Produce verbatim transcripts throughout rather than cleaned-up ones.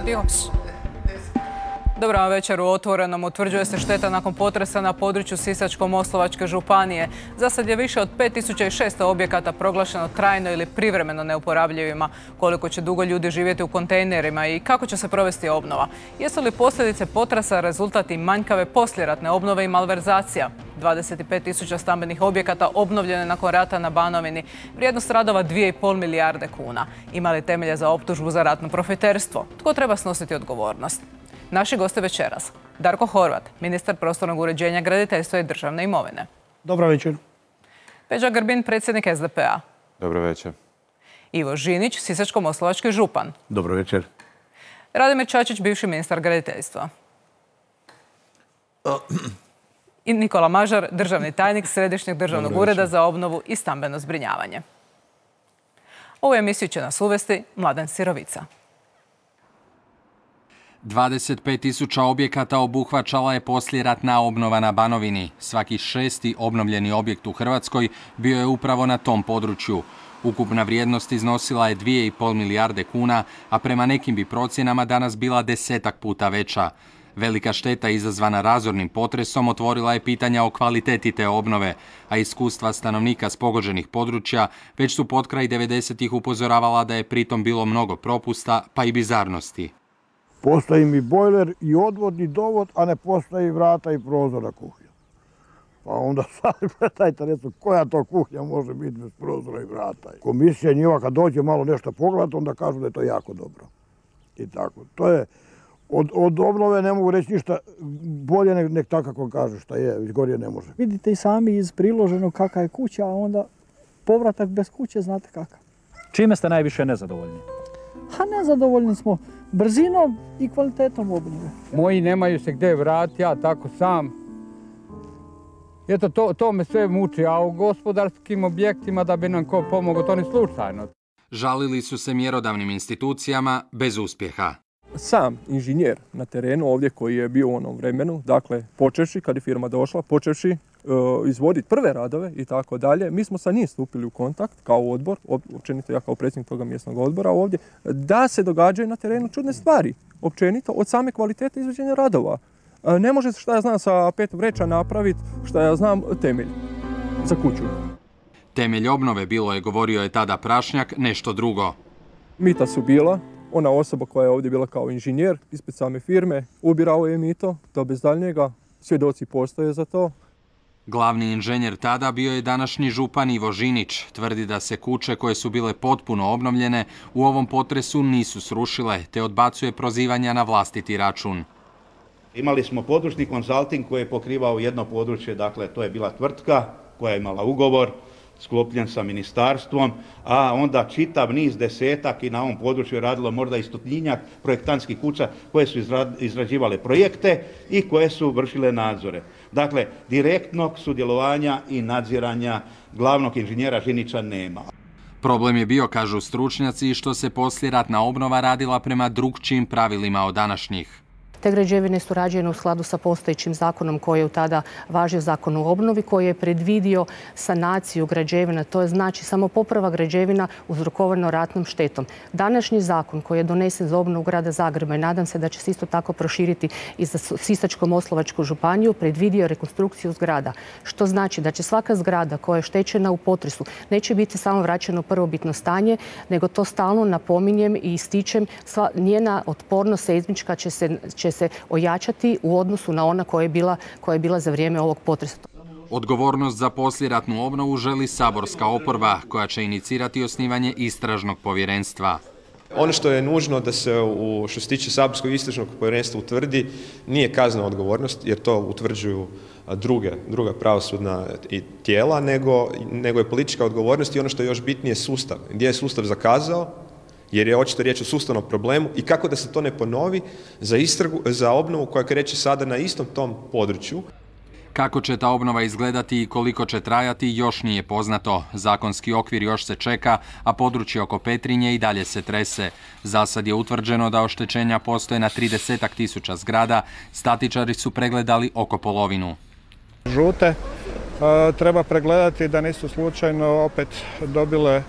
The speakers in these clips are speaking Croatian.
Adios. Dobro vam večer. U Otvorenom utvrđuje se šteta nakon potresa na području Sisačko-moslavačke županije. Za sad je više od pet tisuća šesto objekata proglašeno trajno ili privremeno neuporabljivima. Koliko će dugo ljudi živjeti u kontejnerima i kako će se provesti obnova? Jesu li posljedice potresa rezultat i manjkave poslijeratne obnove i malverzacija? dvadeset pet tisuća stambenih objekata obnovljeno je nakon rata na Banovini. Vrijednost radova dvije i pol milijarde kuna. Ima li temelje za optužbu za ratno profiterstvo? Tko treba snositi odgovornost? Naši gosti večeras. Darko Horvat, ministar prostornog uređenja, graditeljstva i državne imovine. Dobro večer. Peđa Grbin, predsjednik S D P A. Dobro večer. Ivo Žinić, sisačko-moslavački župan. Dobro večer. Radimir Čačić, bivši ministar graditeljstva. I Nikola Mažar, državni tajnik Središnjeg državnog ureda za obnovu i stambeno zbrinjavanje. Ovu emisiju će nas uvesti Mladen Sirovica. dvadeset pet tisuća objekata obuhvaćala je poslijeratna obnova na Banovini. Svaki šesti obnovljeni objekt u Hrvatskoj bio je upravo na tom području. Ukupna vrijednost iznosila je dvije i pol milijarde kuna, a prema nekim bi procjenama danas bila desetak puta veća. Velika šteta izazvana razornim potresom otvorila je pitanja o kvaliteti te obnove, a iskustva stanovnika s pogođenih područja već su potkraj devedesetih upozoravala da je pritom bilo mnogo propusta pa i bizarnosti. Postoji mi bojler i odvodni dovod, a ne postoji vrata i prozora kuhnja. Pa onda sad gledajte, recimo, koja to kuhnja može biti bez prozora i vrata. Komisija njima kad dođe malo nešto pogledati, onda kažu da je to jako dobro. I tako. To je, od, od obnove ne mogu reći ništa bolje nek, nek tako kako kaže šta je, već gorije ne može. Vidite i sami iz priloženog kakva je kuća, a onda povratak bez kuće znate kakav. Čime ste najviše nezadovoljni? A nezadovoljni smo brzinom i kvalitetom obnove. Moji nemaju se gdje vratiti, ja tako sam. Eto, to, to me sve muči, a u gospodarskim objektima da bi nam ko pomogao, to ni slučajno. Žalili su se mjerodavnim institucijama bez uspjeha. Sam inženjer na terenu ovdje koji je bio u onom vremenu, dakle počevši kad je firma došla, počevši uh, izvoditi prve radove i tako dalje, mi smo sa njim stupili u kontakt kao odbor, općenito ja kao predsjednik toga mjesnog odbora ovdje, da se događaju na terenu čudne stvari, općenito od same kvalitete izvođenja radova. Uh, ne može se, šta ja znam, sa pet vreća napraviti, šta ja znam, temelj za kuću. Temelj obnove bilo je, govorio je tada Prašnjak, nešto drugo. Mita su bila. Ona osoba koja je ovdje bila kao inženjer ispred same firme, ubirao je mito, to bez daljnjega, svjedoci postoje za to. Glavni inženjer tada bio je današnji župan Ivo Žinić. Tvrdi da se kuće koje su bile potpuno obnovljene u ovom potresu nisu srušile, te odbacuje prozivanja na vlastiti račun. Imali smo područni konzulting koji je pokrivao jedno područje, dakle to je bila tvrtka koja je imala ugovor sklopljen sa ministarstvom, a onda čitav niz desetak i na ovom području je radilo možda i stotinjak projektantskih kuća koje su izrađivale projekte i koje su vršile nadzore. Dakle, direktnog sudjelovanja i nadziranja glavnog inženjera Žinića nema. Problem je bio, kažu stručnjaci, što se poslijeratna obnova radila prema drukčijim pravilima od današnjih. Te građevine su rađene u skladu sa postojećim zakonom koji je tada važio zakon o obnovi, koji je predvidio sanaciju građevina. To je znači samo poprava građevina uzrokovano ratnom štetom. Današnji zakon koji je donesen za obnovu grada Zagreba i nadam se da će se isto tako proširiti i za Sisačko-moslavačku županiju, predvidio rekonstrukciju zgrada. Što znači da će svaka zgrada koja je štećena u potresu neće biti samo vraćena u prvobitno stanje, nego to stalno napominjem i ističem, sva, njena otpornost seizmička će se, će se ojačati u odnosu na ona koja je bila, koja je bila za vrijeme ovog potresa. Odgovornost za poslijeratnu obnovu želi saborska oporba koja će inicirati osnivanje istražnog povjerenstva. Ono što je nužno da se u, što se tiče saborskog istražnog povjerenstva utvrdi nije kaznena odgovornost, jer to utvrđuju druge, druga pravosudna tijela, nego, nego je politička odgovornost i ono što je još bitnije sustav. Gdje je sustav zakazao, jer je očito riječ o sustavnom problemu i kako da se to ne ponovi za, istragu, za obnovu koja kreće sada na istom tom području. Kako će ta obnova izgledati i koliko će trajati još nije poznato. Zakonski okvir još se čeka, a područje oko Petrinje i dalje se trese. Zasad je utvrđeno da oštećenja postoje na tridesetak tisuća zgrada, statičari su pregledali oko polovinu. Žute treba pregledati da nisu slučajno opet dobile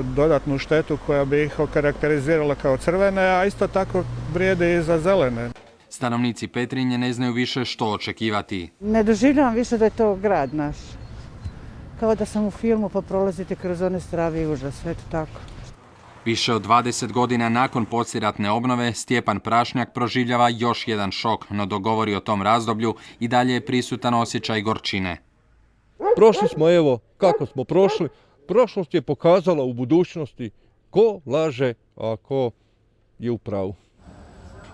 dodatnu štetu koja bi ih okarakterizirala kao crvene, a isto tako vrijede i za zelene. Stanovnici Petrinje ne znaju više što očekivati. Ne doživljavam više da je to grad naš. Kao da sam u filmu pa prolazite kroz one strave i užas, sve to tako. Više od dvadeset godina nakon poslijeratne obnove, Stjepan Prašnjak proživljava još jedan šok, no dok govori o tom razdoblju i dalje je prisutan osjećaj gorčine. Prošli smo, evo, kako smo prošli. Prošlost je pokazala u budućnosti ko laže, a ko je u pravu.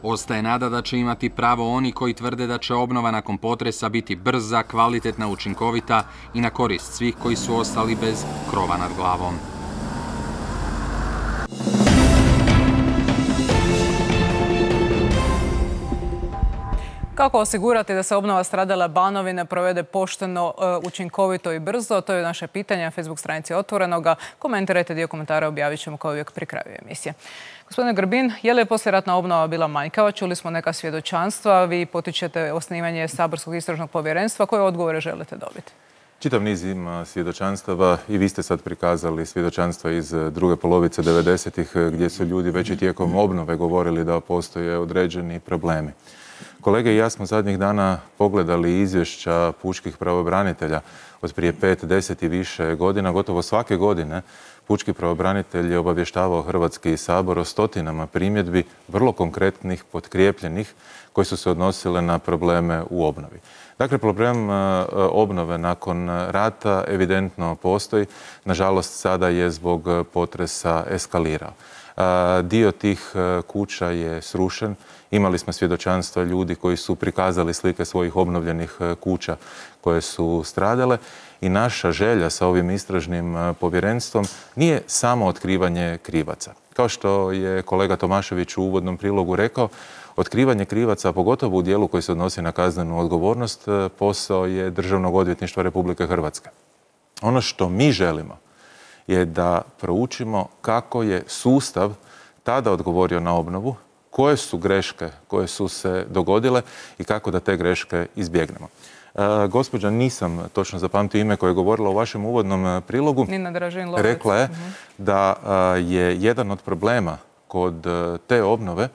Ostaje nada da će imati pravo oni koji tvrde da će obnova nakon potresa biti brza, kvalitetna, učinkovita i na korist svih koji su ostali bez krova nad glavom. Kako osigurati da se obnova stradale Banovine provede pošteno, učinkovito i brzo? To je naše pitanje na Facebook stranici Otvorenoga. Komentirajte, dio komentara objavit ćemo kao uvijek pri kraju emisije. Gospodine Grbin, je li poslijeratna obnova bila manjkava? Čuli smo neka svjedočanstva. Vi potičete osnivanje Saborskog istražnog povjerenstva. Koje odgovore želite dobiti? Čitav niz ima svjedočanstava i vi ste sad prikazali svjedočanstva iz druge polovice devedesetih gdje su ljudi već i tijekom obnove govorili da postoje određeni problemi. Kolege i ja smo zadnjih dana pogledali izvješća pučkih pravobranitelja od prije pet, deset i više godina. Gotovo svake godine pučki pravobranitelj je obavještavao Hrvatski sabor o stotinama primjedbi, vrlo konkretnih, potkrijepljenih, koje su se odnosile na probleme u obnovi. Dakle, problem obnove nakon rata evidentno postoji. Nažalost, sada je zbog potresa eskalirao. Dio tih kuća je srušen. Imali smo svjedočanstva ljudi koji su prikazali slike svojih obnovljenih kuća koje su stradale i naša želja sa ovim istražnim povjerenstvom nije samo otkrivanje krivaca. Kao što je kolega Tomašević u uvodnom prilogu rekao, otkrivanje krivaca, pogotovo u dijelu koji se odnosi na kaznenu odgovornost, posao je Državnog odvjetništva Republike Hrvatske. Ono što mi želimo je da proučimo kako je sustav tada odgovorio na obnovu, koje su greške koje su se dogodile i kako da te greške izbjegnemo. E, gospođa, nisam točno zapamtio ime koje je govorila u vašem uvodnom prilogu. Nina Dražin-Lovec. Rekla je da je jedan od problema kod te obnove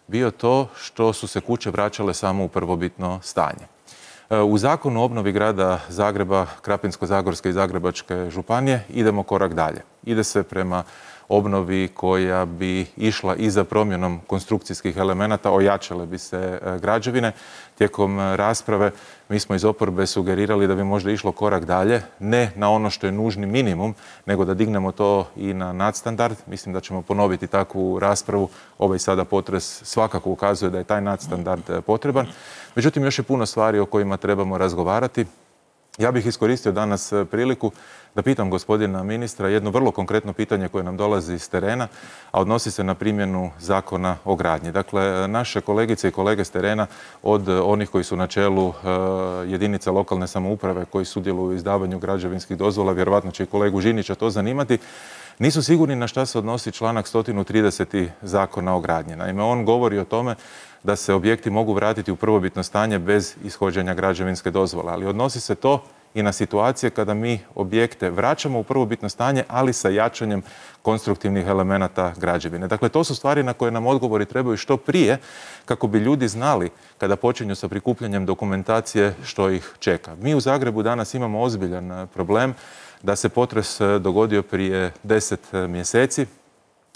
bio to što su se kuće vraćale samo u prvobitno stanje. U zakonu o obnovi grada Zagreba, Krapinsko-zagorske i Zagrebačke županije idemo korak dalje. Ide se prema obnovi koja bi išla i za promjenom konstrukcijskih elemenata, ojačale bi se građevine. Tijekom rasprave mi smo iz oporbe sugerirali da bi možda išlo korak dalje, ne na ono što je nužni minimum, nego da dignemo to i na nadstandard. Mislim da ćemo ponoviti takvu raspravu. Ovaj sada potres svakako ukazuje da je taj nadstandard potreban. Međutim, još je puno stvari o kojima trebamo razgovarati. Ja bih iskoristio danas priliku da pitam gospodina ministra jedno vrlo konkretno pitanje koje nam dolazi iz terena, a odnosi se na primjenu zakona o gradnji. Dakle, naše kolegice i kolege s terena, od onih koji su na čelu jedinica lokalne samouprave koji sudjeluju u izdavanju građevinskih dozvola, vjerovatno će i kolegu Žinića to zanimati, nisu sigurni na šta se odnosi članak sto trideset zakona o gradnji. Naime, on govori o tome da se objekti mogu vratiti u prvobitno stanje bez ishođenja građevinske dozvole, ali odnosi se to i na situacije kada mi objekte vraćamo u prvobitno stanje, ali sa jačanjem konstruktivnih elemenata građevine. Dakle, to su stvari na koje nam odgovori trebaju što prije, kako bi ljudi znali kada počinju sa prikupljanjem dokumentacije što ih čeka. Mi u Zagrebu danas imamo ozbiljan problem da se potres dogodio prije deset mjeseci,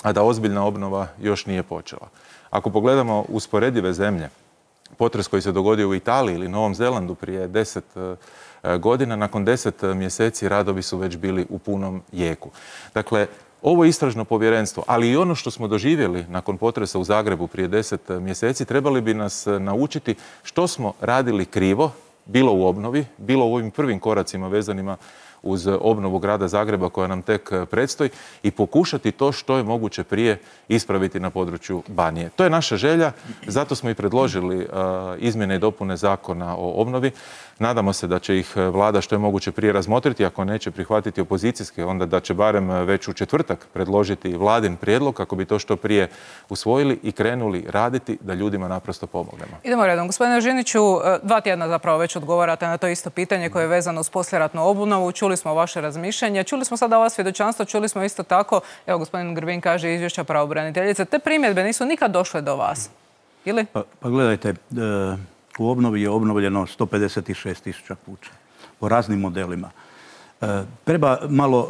a da ozbiljna obnova još nije počela. Ako pogledamo usporedive zemlje, potres koji se dogodio u Italiji ili Novom Zelandu prije deset godina, nakon deset mjeseci radovi su već bili u punom jeku. Dakle, ovo istražno povjerenstvo, ali i ono što smo doživjeli nakon potresa u Zagrebu prije deset mjeseci, trebali bi nas naučiti što smo radili krivo, bilo u obnovi, bilo u ovim prvim koracima vezanima uz obnovu grada Zagreba koja nam tek predstoji i pokušati to što je moguće prije ispraviti na području Banije. To je naša želja, zato smo i predložili uh, izmjene i dopune zakona o obnovi. Nadamo se da će ih vlada što je moguće prije razmotriti, ako neće prihvatiti opozicijske, onda da će barem već u četvrtak predložiti vladin prijedlog kako bi to što prije usvojili i krenuli raditi da ljudima naprosto pomognemo. Idemo redom. Gospodine Žiniću, dva tjedna zapravo već odgovarate na to isto pitanje koje je vezano uz poslijeratnu obnovu. Čuli čuli smo vaše razmišljanje, čuli smo sada ova svjedočanstva, čuli smo isto tako, evo gospodin Grbin kaže izvješća pravobraniteljice, te primjedbe nisu nikad došle do vas, ili? Pa, pa gledajte, u obnovi je obnovljeno sto pedeset šest tisuća kuća po raznim modelima. Treba malo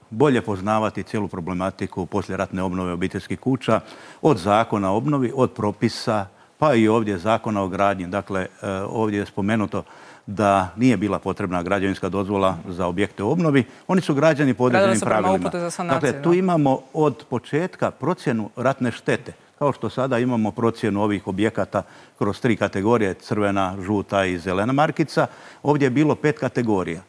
bolje poznavati cijelu problematiku poslijeratne obnove obiteljskih kuća, od zakona o obnovi, od propisa, pa i ovdje zakona o gradnji. Dakle, ovdje je spomenuto da nije bila potrebna građevinska dozvola za objekte u obnovi. Oni su građeni po određenim pravilima. Dakle, tu imamo od početka procjenu ratne štete. Kao što sada imamo procjenu ovih objekata kroz tri kategorije, crvena, žuta i zelena markica, ovdje je bilo pet kategorija.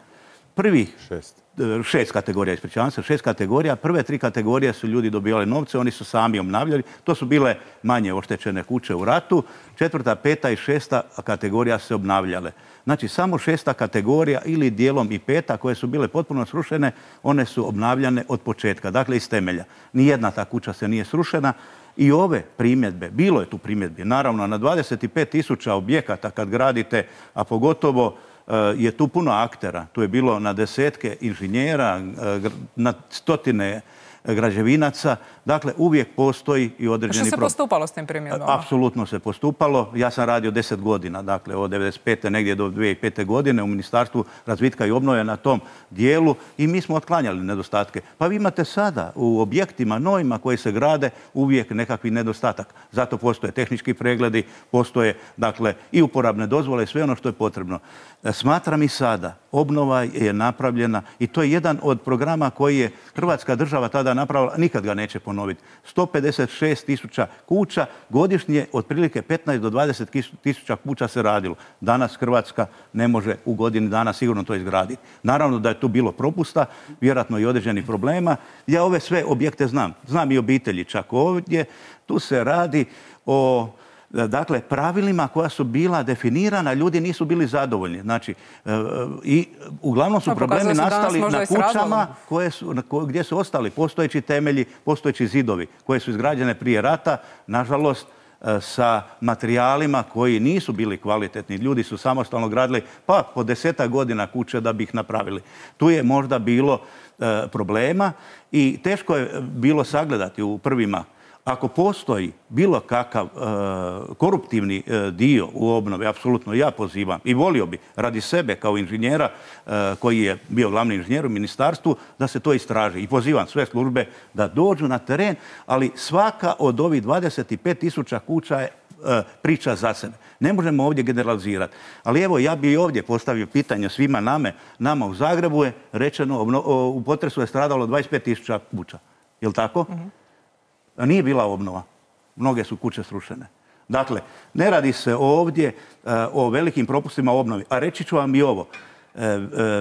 Prvih šest. Šest kategorija, ispričavam se, šest kategorija. Prve tri kategorije su ljudi dobivali novce, oni su sami obnavljali. To su bile manje oštećene kuće u ratu. Četvrta, peta i šesta kategorija se obnavljale. Znači, samo šesta kategorija ili dijelom i peta koje su bile potpuno srušene, one su obnavljane od početka, dakle iz temelja. Nijedna ta kuća se nije srušena. I ove primjedbe, bilo je tu primjedbe, naravno na dvadeset pet tisuća objekata kad gradite, a pogotovo je tu puno aktera. Tu je bilo na desetke inženjera, na stotine građevinaca. Dakle, uvijek postoji i određeni problem. Što se postupalo s tim primjedbama? Apsolutno se postupalo. Ja sam radio deset godina, dakle od devedeset pete negdje do dvije tisuće pete godine u Ministarstvu razvitka i obnove na tom dijelu i mi smo otklanjali nedostatke. Pa vi imate sada u objektima novima koji se grade uvijek nekakvi nedostatak. Zato postoje tehnički pregledi, postoje dakle i uporabne dozvole i sve ono što je potrebno. Smatram i sada, obnova je napravljena i to je jedan od programa koji je Hrvatska država tada napravila, nikad ga neće ponoviti. sto pedeset šest tisuća kuća, godišnje otprilike petnaest do dvadeset tisuća kuća se radilo. Danas Hrvatska ne može u godini dana sigurno to izgraditi. Naravno da je tu bilo propusta, vjerojatno i određenih problema. Ja ove sve objekte znam. Znam i obitelji čak ovdje. Tu se radi o dakle, pravilima koja su bila definirana, ljudi nisu bili zadovoljni. Znači, i uglavnom su problemi nastali na kućama koje su, gdje su ostali postojeći temelji, postojeći zidovi, koje su izgrađene prije rata, nažalost, sa materijalima koji nisu bili kvalitetni. Ljudi su samostalno gradili pa po desetak godina kuće da bi ih napravili. Tu je možda bilo problema i teško je bilo sagledati u prvima. Ako postoji bilo kakav koruptivni dio u obnovi, apsolutno ja pozivam i volio bi radi sebe kao inženjera koji je bio glavni inženjer u ministarstvu da se to istraži. I pozivam sve službe da dođu na teren, ali svaka od ovih dvadeset pet tisuća kuća je priča za sebe. Ne možemo ovdje generalizirati. Ali evo, ja bih i ovdje postavio pitanje svima nama. Nama u Zagrebu je rečeno, u potresu je stradalo dvadeset pet tisuća kuća. Je li tako? Nije bila obnova. Mnoge su kuće srušene. Dakle, ne radi se ovdje o velikim propustima u obnovi. A reći ću vam i ovo.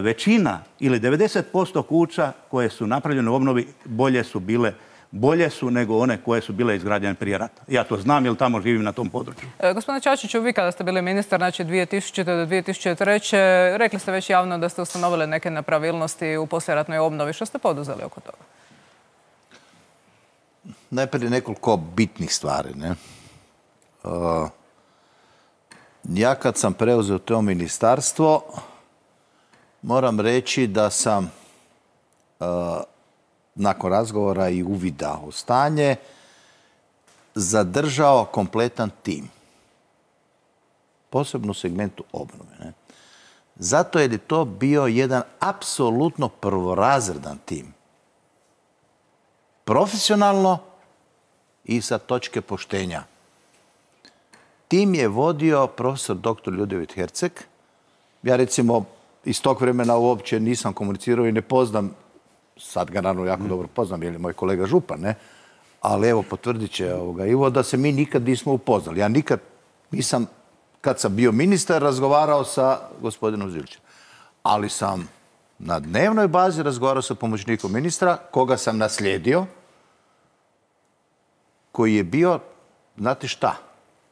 Većina ili devedeset posto kuća koje su napravljene u obnovi bolje su bile bolje su nego one koje su bile izgrađene prije rata. Ja to znam jer tamo živim na tom području. E, gospodine Čačiću, vi kada ste bili ministar, znači dvije tisućite. do dvije tisuće treće. rekli ste već javno da ste ustanovili neke nepravilnosti u poslijeratnoj obnovi. Što ste poduzeli oko toga? Najprije nekoliko bitnih stvari. Ne? Uh, ja kad sam preuzeo to ministarstvo, moram reći da sam uh, nakon razgovora i uvida u stanje zadržao kompletan tim. Posebno u segmentu obnove. Ne? Zato jer je to bio jedan apsolutno prvorazredan tim. Profesionalno i sa točke poštenja. Tim je vodio profesor doktor Ljudevit Herceg. Ja recimo iz tog vremena uopće nisam komunicirao i ne poznam, sad ga naravno jako dobro poznam, jer je moj kolega župan, ne? Ali evo, potvrdit će ovoga Ivo da se mi nikad nismo upoznali. Ja nikad nisam, kad sam bio ministar, razgovarao sa gospodinom Zilićem. Ali sam na dnevnoj bazi razgovarao sa pomoćnikom ministra, koga sam naslijedio, koji je bio, znate šta,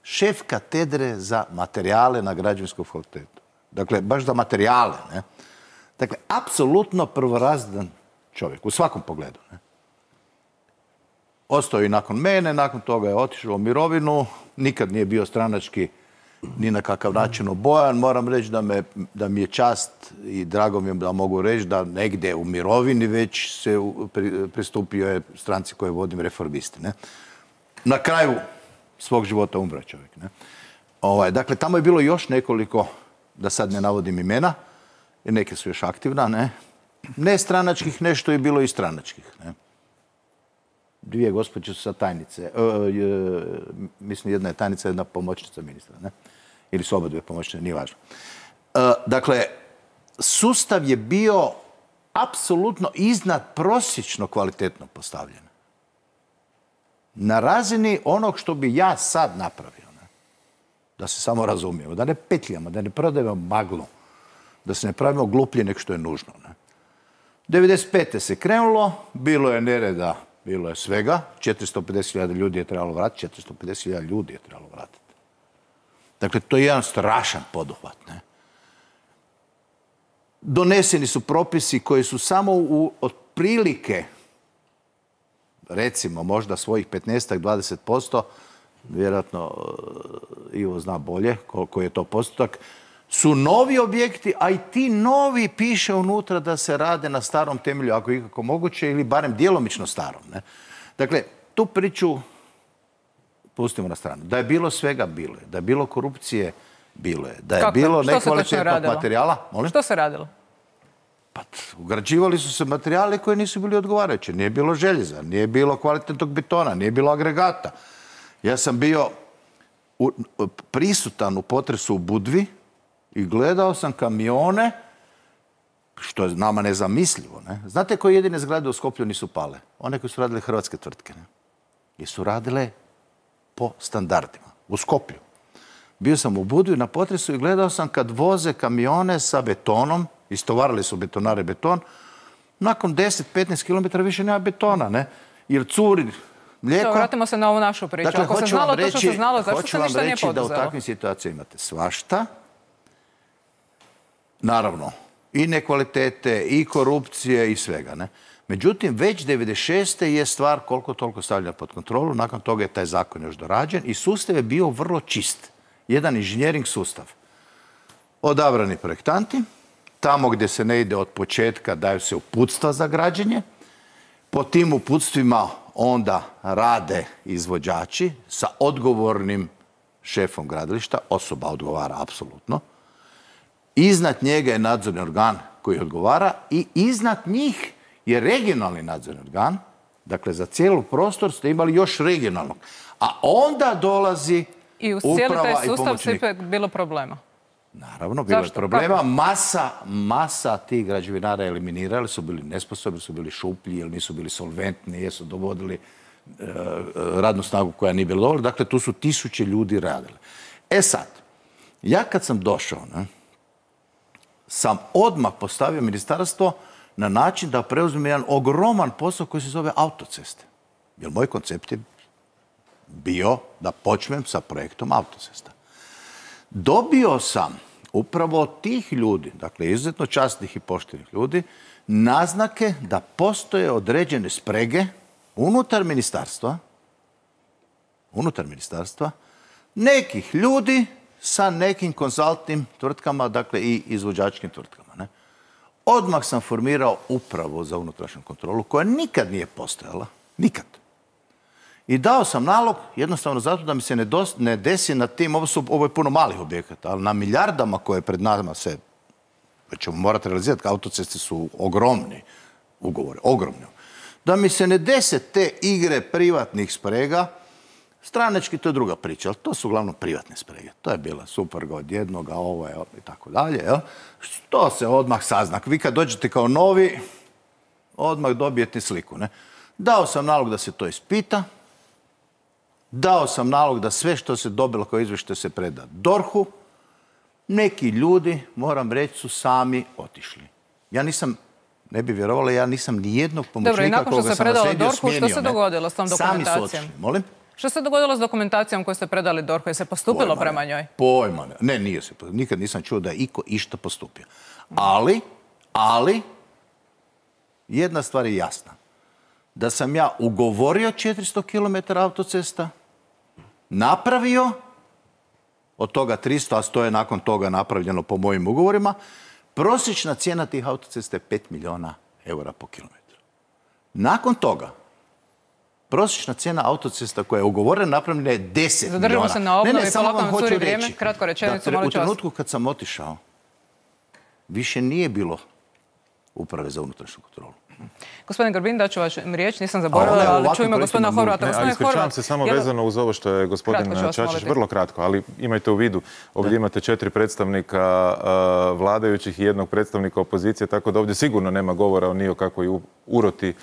šef katedre za materijale na Građevinskom fakultetu. Dakle, baš za materijale. Ne? Dakle, apsolutno prvorazredan čovjek, u svakom pogledu. Ne? Ostao je i nakon mene, nakon toga je otišao u mirovinu, nikad nije bio stranački ni na kakav način obojan. Moram reći da, me, da mi je čast i drago mi je da mogu reći da negdje u mirovini već se pri, pristupio je stranci koje vodim, Reformisti. Ne? Na kraju svog života umre čovjek. Ne? Ovaj, dakle, tamo je bilo još nekoliko, da sad ne navodim imena, jer neke su još aktivna, ne? Ne stranačkih, nešto je bilo i stranačkih. Ne? Dvije gospođe su sad tajnice. E, e, mislim, jedna je tajnica, jedna pomoćnica ministra. Ne? Ili su oba dvije pomoćnice, nije važno. E, dakle, sustav je bio apsolutno iznad prosječno kvalitetno postavljen. Na razini onog što bi ja sad napravio. Ne? Da se samo razumijemo. Da ne petljamo, da ne prodajemo maglu. Da se ne pravimo gluplje nek što je nužno. Ne? devedeset pete se krenulo, bilo je nereda, bilo je svega. četiristo pedeset hiljada ljudi je trebalo vratiti, četiristo pedeset hiljada ljudi je trebalo vratiti. Dakle, to je jedan strašan poduhvat. Ne? Doneseni su propisi koji su samo u otprilike, recimo, možda svojih petnaest do dvadeset posto, vjerojatno Ivo zna bolje koliko je to postotak, su novi objekti, a i ti novi piše unutra da se rade na starom temelju, ako je ikako moguće, ili barem djelomično starom. Ne? Dakle, tu priču pustimo na stranu. Da je bilo svega, bilo je. Da je bilo korupcije, bilo je. Da je Kako? bilo Što nekvalitetnog materijala. Molim? Što se radilo? Pa, ugrađivali su se materijale koji nisu bili odgovarajući. Nije bilo željeza, nije bilo kvalitetnog betona, nije bilo agregata. Ja sam bio u, prisutan u potresu u Budvi i gledao sam kamione, što je nama nezamislivo. Ne? Znate koje jedine zgrade u Skoplju nisu pale? One koje su radile hrvatske tvrtke. Ne? I su radile po standardima. U Skoplju. Bio sam u Budvi na potresu i gledao sam kad voze kamione sa betonom, istovarali su betonare beton, nakon deset do petnaest kilometara više nema betona, ne? Jer curi mlijeko. To, vratimo se na ovu našu priču. Dakle, ako se znalo to što se znalo, zašto se ništa nije poduzelo? Hoću vam reći da u takvim situacijama imate svašta. Naravno, i nekvalitete, i korupcije, i svega, ne? Međutim, već devedeset šeste je stvar koliko toliko stavljena pod kontrolu. Nakon toga je taj zakon još dorađen i sustav je bio vrlo čist. Jedan inženjering sustav. Odabrani projektanti, tamo gdje se ne ide od početka daju se uputstva za građenje. Po tim uputstvima onda rade izvođači sa odgovornim šefom gradilišta. Osoba odgovara apsolutno. Iznad njega je nadzorni organ koji odgovara i iznad njih je regionalni nadzorni organ. Dakle, za cijelu prostor ste imali još regionalnog. A onda dolazi I uz cijeli uprava taj i sustav pomoćnik. ipak bilo problema. Naravno, bilo je Zašto? problema. Kako? Masa, masa tih građevinara eliminirali, su bili nesposobni, su bili šuplji, ili nisu bili solventni, jesu dovodili e, radnu snagu koja nije bila dovoljna. Dakle, tu su tisuće ljudi radili. E sad, ja kad sam došao, ne, sam odmah postavio ministarstvo na način da preuzmem jedan ogroman posao koji se zove autoceste. Jer moj koncept je bio da počnem sa projektom autocesta. Dobio sam upravo od tih ljudi, dakle izuzetno časnih i poštenih ljudi, naznake da postoje određene sprege unutar ministarstva, unutar ministarstva, nekih ljudi sa nekim konzultnim tvrtkama, dakle i izvođačkim tvrtkama. Ne? Odmah sam formirao upravu za unutrašnju kontrolu, koja nikad nije postojala, nikad. I dao sam nalog jednostavno zato da mi se ne, dos, ne desi na tim, ovo, su, ovo je puno malih objekata, ali na milijardama koje pred nama se ćemo morati realizirati, autoceste su ogromni ugovori, ogromni. Da mi se ne dese te igre privatnih sprega, stranački to je druga priča, ali to su uglavnom privatne sprege. To je bila supruga od jednoga, ovo je i tako dalje. To se odmah sazna. Vi kad dođete kao novi, odmah dobijete sliku. Ne? Dao sam nalog da se to ispita. Dao sam nalog da sve što se dobilo kao izvještaj se preda dorhu. Neki ljudi, moram reći, su sami otišli. Ja nisam, ne bi vjerovala, ja nisam ni jednog pomoćnika koga sam naslijedio smijenio. Dobro, i nakon što se predalo dorhu, što se dogodilo s tom dokumentacijom? Sami su otišli. Molim? Što se dogodilo s dokumentacijom koju ste predali dorhu? Je se postupilo Pojma prema ne. njoj? Pojma ne. Ne, nije se. Nikad nisam čuo da je iko išta postupio. Ali, ali, jedna stvar je jasna. Da sam ja ugovorio četiristo kilometara autocesta, napravio, od toga tristo, a sto je nakon toga napravljeno po mojim ugovorima, prosječna cijena tih autocesta je pet milijuna eura po kilometru. Nakon toga, prosječna cijena autocesta koja je ugovorena napravljena je deset milijuna. Zadržimo se na obnovi, ne, ne, samo polako vam nam hoću curi reći. vrijeme. Kratko rečenicu, Da, molim u trenutku kad sam otišao, više nije bilo uprave za unutrašnju kontrolu. Gospodin Grbin, daću vašu riječ, nisam zaboravila, ali čujemo gospodina Horvata. Ne, ali ispričavam se samo vezano uz ovo što je gospodin Čačić, vrlo kratko, ali imajte u vidu, ovdje imate četiri predstavnika vladajućih i jednog predstavnika opozicije, tako da ovdje sigurno nema govora ni o kakvoj uroti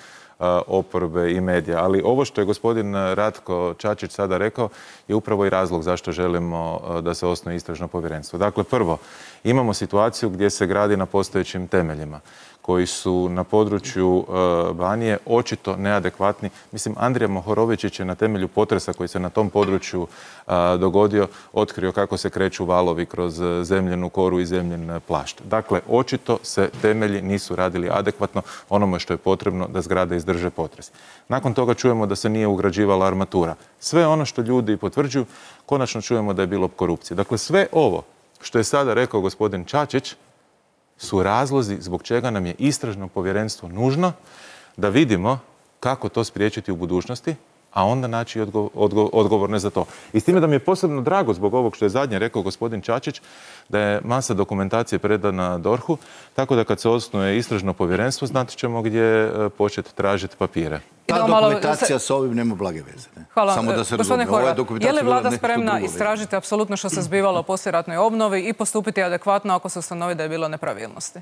oporbe i medija. Ali ovo što je gospodin Ratko Čačić sada rekao je upravo i razlog zašto želimo da se osnuje istražno povjerenstvo. Dakle, prvo, imamo situaciju gdje se gradi na postojećim temeljima koji su na području Banije očito neadekvatni. Mislim, Andrija Mohorovičić je na temelju potresa koji se na tom području dogodio otkrio kako se kreću valovi kroz zemljenu koru i zemljen plašt. Dakle, očito se temelji nisu radili adekvatno onome što je potrebno da zgrade izdrže potres. Nakon toga čujemo da se nije ugrađivala armatura. Sve ono što ljudi potvrđuju, konačno čujemo da je bilo korupcije. Dakle, sve ovo što je sada rekao gospodin Čačić su razlozi zbog čega nam je istražno povjerenstvo nužno da vidimo kako to spriječiti u budućnosti, a onda naći odgo odgo odgovorne za to. I s time da mi je posebno drago zbog ovog što je zadnje rekao gospodin Čačić, da je masa dokumentacije predana DORH-u, tako da kad se osnuje istražno povjerenstvo, znat ćemo gdje početi tražiti papire. Ta dokumentacija s ovim nema blage veze. Ne? Hvala. Samo da se Gospodine razumije. Horvat, je li vlada spremna istražiti apsolutno što se zbivalo u poslijeratnoj obnovi i postupiti adekvatno ako se ustanovi da je bilo nepravilnosti?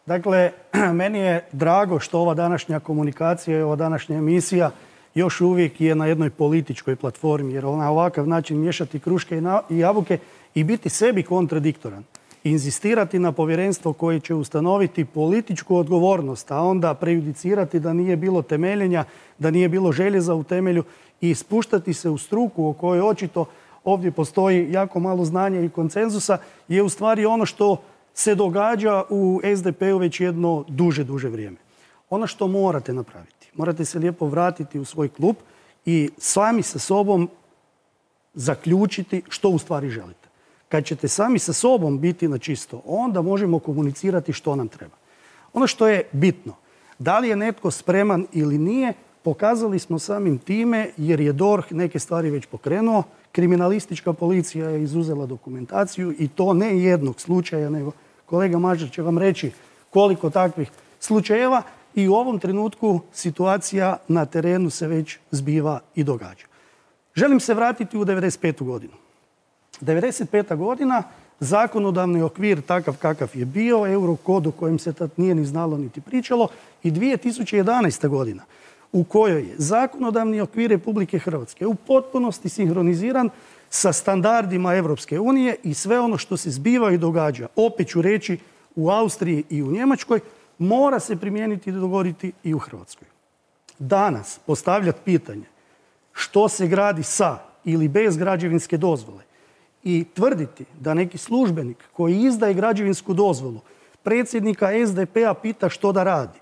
Dakle, meni je drago što ova današnja komunikacija i ova današnja emisija još uvijek je na jednoj političkoj platformi, jer na ovakav način miješati kruške i jabuke i biti sebi kontradiktoran. Inzistirati na povjerenstvo koje će ustanoviti političku odgovornost, a onda prejudicirati da nije bilo temeljenja, da nije bilo željeza u temelju i spuštati se u struku o kojoj očito ovdje postoji jako malo znanja i konsenzusa, je u stvari ono što se događa u S D P-u već jedno duže, duže vrijeme. Ono što morate napraviti, morate se lijepo vratiti u svoj klub i sami sa sobom zaključiti što u stvari želite. Kad ćete sami sa sobom biti na čisto, onda možemo komunicirati što nam treba. Ono što je bitno, da li je netko spreman ili nije, pokazali smo samim time jer je DORH neke stvari već pokrenuo. Kriminalistička policija je izuzela dokumentaciju i to ne jednog slučaja, nego kolega Mažar će vam reći koliko takvih slučajeva i u ovom trenutku situacija na terenu se već zbiva i događa. Želim se vratiti u devedeset petu godinu. devedeset peta godina, zakonodavni okvir takav kakav je bio, Eurokod o kojem se tad nije ni znalo niti pričalo, i dvije tisuće jedanaesta godina u kojoj je zakonodavni okvir Republike Hrvatske u potpunosti sinhroniziran sa standardima Evropske unije i sve ono što se zbiva i događa, opet ću reći, u Austriji i u Njemačkoj, mora se primijeniti i dogoditi i u Hrvatskoj. Danas postavljati pitanje što se gradi sa ili bez građevinske dozvole i tvrditi da neki službenik koji izdaje građevinsku dozvolu predsjednika S D P-a pita što da radi,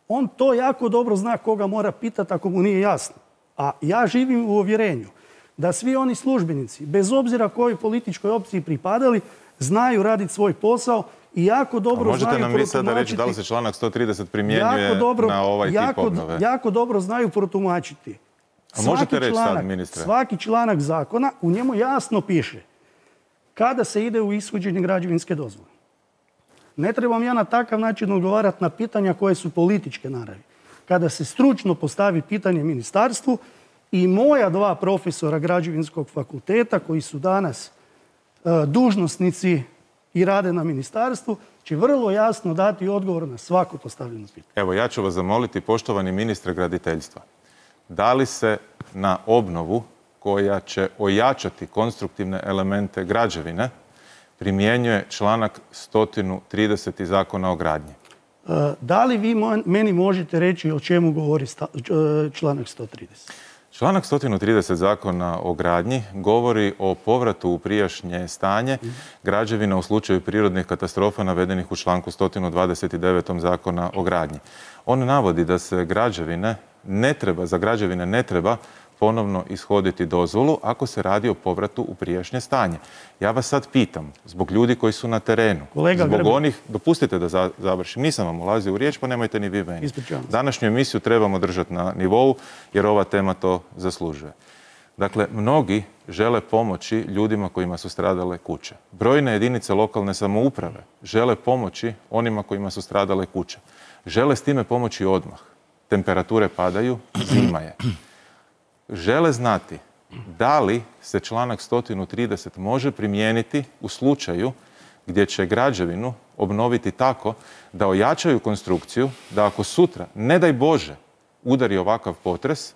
on to jako dobro zna koga mora pitati ako mu nije jasno. A ja živim u uvjerenju da svi oni službenici, bez obzira kojoj političkoj opciji pripadali, znaju raditi svoj posao i jako dobro znaju protumačiti. Možete nam vi sada reći da li se članak sto trideset primjenjuje na ovaj tip obnove? Jako dobro znaju protumačiti. A možete reći sad, ministre? Svaki članak zakona, u njemu jasno piše kada se ide u ishođenje građevinske dozvole. Ne trebam ja na takav način odgovarati na pitanja koje su političke naravi. Kada se stručno postavi pitanje ministarstvu i moja dva profesora građevinskog fakulteta koji su danas e, dužnosnici i rade na ministarstvu, će vrlo jasno dati odgovor na svako postavljeno pitanje. Evo, ja ću vas zamoliti, poštovani ministre graditeljstva, da li se na obnovu koja će ojačati konstruktivne elemente građevine primjenjuje članak sto trideset Zakona o gradnji? Da li vi meni možete reći o čemu govori članak sto trideset? Članak sto trideset Zakona o gradnji govori o povratu u prijašnje stanje građevina u slučaju prirodnih katastrofa navedenih u članku sto dvadeset devet Zakona o gradnji. On navodi da se građevine ne treba, za građevine ne treba ponovno ishoditi dozvolu ako se radi o povratu u prijašnje stanje. Ja vas sad pitam, zbog ljudi koji su na terenu, Kolega zbog Grbin. onih, dopustite da za- završim, nisam vam ulazio u riječ, pa nemojte ni vi meni. Ispričavam se. Današnju emisiju trebamo držati na nivou jer ova tema to zaslužuje. Dakle, mnogi žele pomoći ljudima kojima su stradale kuće. Brojne jedinice lokalne samouprave žele pomoći onima kojima su stradale kuće. Žele s time pomoći odmah. Temperature padaju, zima je. Žele znati da li se članak sto trideset može primijeniti u slučaju gdje će građevinu obnoviti tako da ojačaju konstrukciju, da ako sutra, ne daj Bože, udari ovakav potres,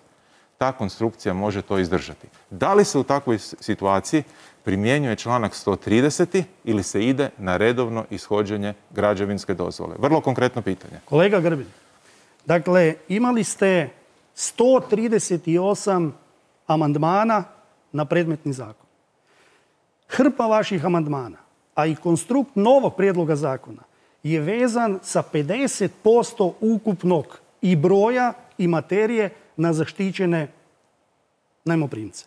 ta konstrukcija može to izdržati. Da li se u takvoj situaciji primjenjuje članak sto trideset ili se ide na redovno ishođenje građevinske dozvole? Vrlo konkretno pitanje. Kolega Grbin, dakle, imali ste sto trideset osam amandmana na predmetni zakon. Hrpa vaših amandmana, a i konstrukt novog prijedloga zakona je vezan sa pedeset posto ukupnog i broja i materije na zaštićene najmoprimce.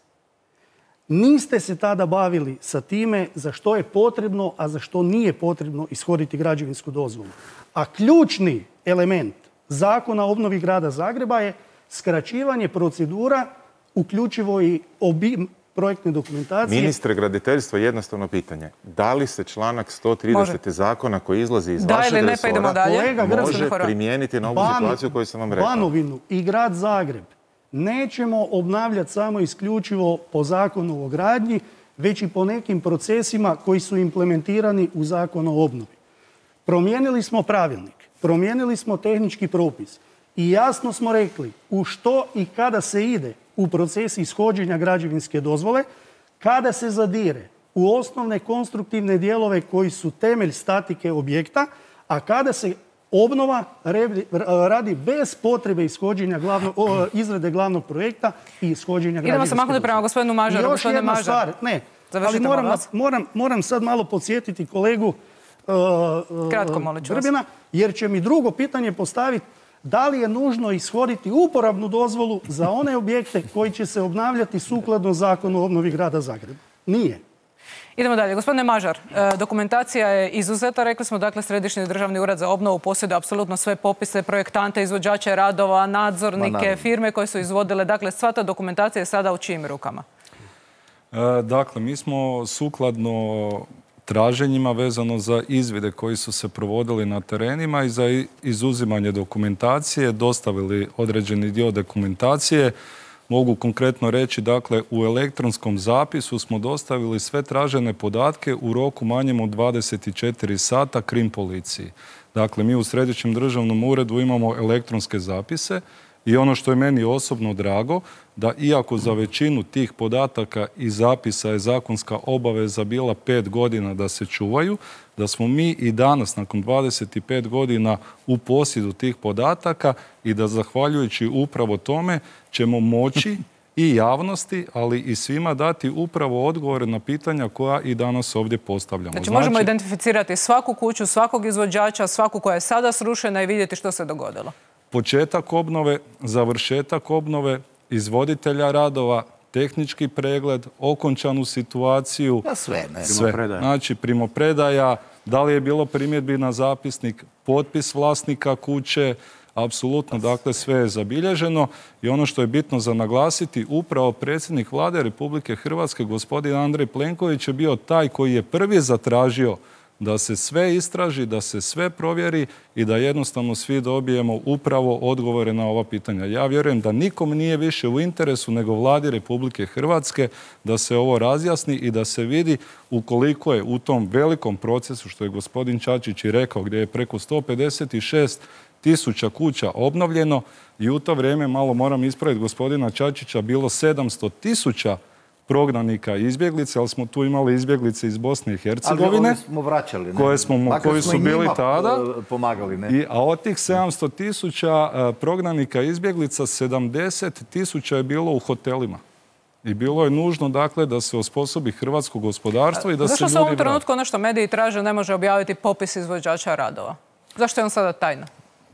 Niste se tada bavili sa time za što je potrebno, a za što nije potrebno ishoditi građevinsku dozvolu. A ključni element Zakona o obnovi grada Zagreba je skraćivanje procedura, uključivo i obim projektne dokumentacije. Ministre graditeljstva, jednostavno pitanje. Da li se članak sto trideset Može. zakona koji izlazi iz Da vašeg ili ne, pa idemo resora dalje. Kolega Grbin, može primijeniti na ovu Ban- situaciju koju sam vam rekao? Banovinu i grad Zagreb nećemo obnavljati samo isključivo po zakonu o gradnji, već i po nekim procesima koji su implementirani u zakonu o obnovi. Promijenili smo pravilnik, promijenili smo tehnički propis i jasno smo rekli u što i kada se ide u proces ishođenja građevinske dozvole, kada se zadire u osnovne konstruktivne dijelove koji su temelj statike objekta, a kada se obnova radi bez potrebe ishođenja glavnog, o, izrade glavnog projekta i ishođenja građevinske Idemo se maknuti dozvole. prema gospodinu I Mažaru. još Gospodine jedna Mažar. stvar, ne, ali Završite, moram, molim vas. vas- moram, moram sad malo podsjetiti kolegu uh, uh, Kratko, molit ću vas. Grbina, jer će mi drugo pitanje postaviti da li je nužno ishoditi uporabnu dozvolu za one objekte koji će se obnavljati sukladno Zakonu o obnovi grada Zagreba. Nije. Idemo dalje. Gospodine Mažar, e, dokumentacija je izuzeta. Rekli smo, dakle, Središnji državni ured za obnovu posjeduje apsolutno sve popise, projektante, izvođače radova, nadzornike, firme koje su izvodile. Dakle, sva ta dokumentacija je sada u čijim rukama? E, Dakle, mi smo sukladno traženjima vezano za izvide koji su se provodili na terenima i za i- izuzimanje dokumentacije dostavili određeni dio dokumentacije. Mogu konkretno reći, dakle, u elektronskom zapisu smo dostavili sve tražene podatke u roku manjem od dvadeset četiri sata krim policiji. Dakle, mi u Središnjem državnom uredu imamo elektronske zapise i ono što je meni osobno drago, da iako za većinu tih podataka i zapisa je zakonska obaveza bila pet godina da se čuvaju, da smo mi i danas, nakon dvadeset pet godina, u posjedu tih podataka i da zahvaljujući upravo tome ćemo moći i javnosti, ali i svima dati upravo odgovore na pitanja koja i danas ovdje postavljamo. Znači, možemo identificirati svaku kuću, svakog izvođača, svaku koja je sada srušena i vidjeti što se dogodilo. Početak obnove, završetak obnove, izvoditelja radova, tehnički pregled, okončanu situaciju. Pa sve, ne? Sve. Primopredaja. Znači, primopredaja, da li je bilo primjedbi na zapisnik, potpis vlasnika kuće, apsolutno, dakle, sve je zabilježeno i ono što je bitno za naglasiti, upravo predsjednik Vlade Republike Hrvatske, gospodin Andrej Plenković, je bio taj koji je prvi zatražio da se sve istraži, da se sve provjeri i da jednostavno svi dobijemo upravo odgovore na ova pitanja. Ja vjerujem da nikom nije više u interesu nego Vladi Republike Hrvatske da se ovo razjasni i da se vidi ukoliko je u tom velikom procesu, što je gospodin Čačić i rekao, gdje je preko sto pedeset šest tisuća kuća obnovljeno i u to vrijeme, malo moram ispraviti gospodina Čačića, bilo sedamsto tisuća prognanika i izbjeglice, ali smo tu imali izbjeglice iz Bosne i Hercegovine. Ali smo vraćali, ne? Koje smo, Makar koji smo su i bili njima, tada. e, pomagali, ne? I, a od tih sedamsto tisuća e, prognanika i izbjeglica, sedamdeset tisuća je bilo u hotelima. I bilo je nužno, dakle, da se osposobi hrvatsko gospodarstvo i da se Zašto ljudi se u ovom vrate. trenutku ono što mediji traže ne može objaviti popis izvođača radova? Zašto je on sada tajna?